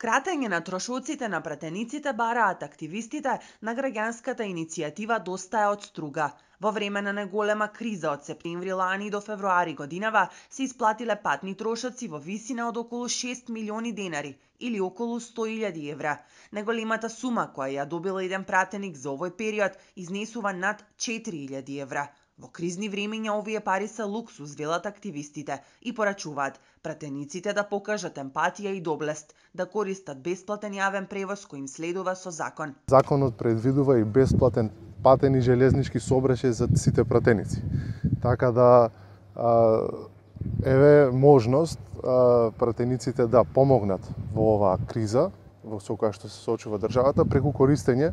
Кратење на трошоците на пратениците бараат активистите на граѓанската иницијатива Доста е од струга. Во време на неголема криза од септември лани до февруари годинава се исплатиле патни трошоци во висина од околу 6 милиони денари или околу 100.000 евра. Неголемата сума која ја добил еден пратеник за овој период изнесува над 4.000 евра. Во кризни времиња овие пари се луксус, велат активистите, и порачуваат пратениците да покажат емпатија и доблест, да користат бесплатен јавен превоз кој им следува со закон. Законот предвидува и бесплатен патен и железнички сообраќај за сите пратеници. Така да еве можност пратениците да помогнат во оваа криза во со која што се соочува државата преку користење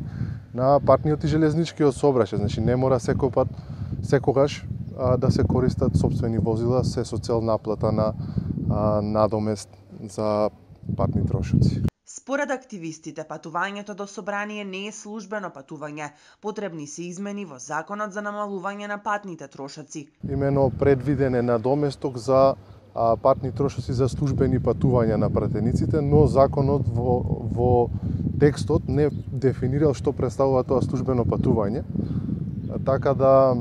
на патниот и железничкиот сообраќај. Значи не мора секогаш да се користат сопствени возила се со цел наплата на надомест за патни трошоци. Според активистите, патувањето до собрание не е службено патување. Потребни се измени во законот за намалување на патните трошоци. Имено предвиден е надоместок за патни трошоци за службени патувања на пратениците, но законот во текстот не дефинирал што представува тоа службено патување. Така да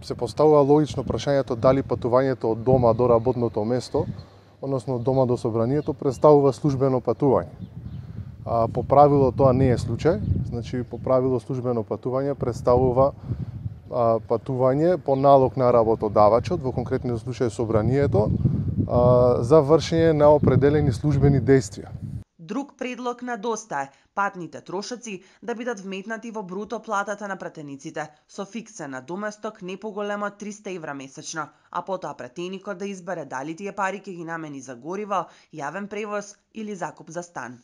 се поставува логично прашањето дали патувањето од дома до работното место, односно од дома до собранието, представува службено патување. По правило тоа не е случај, значи по правило службено патување представува патување по налог на работодавачот, во конкретниот случај собранието, за вршење на определени службени дејствија. Друг предлог на Доста е патните трошоци да бидат вметнати во бруто платата на пратениците со фиксен надоместок не поголем од 300 евра месечно, а потоа пратеникот да избере дали тие пари ќе ги намени за гориво, јавен превоз или закуп за стан.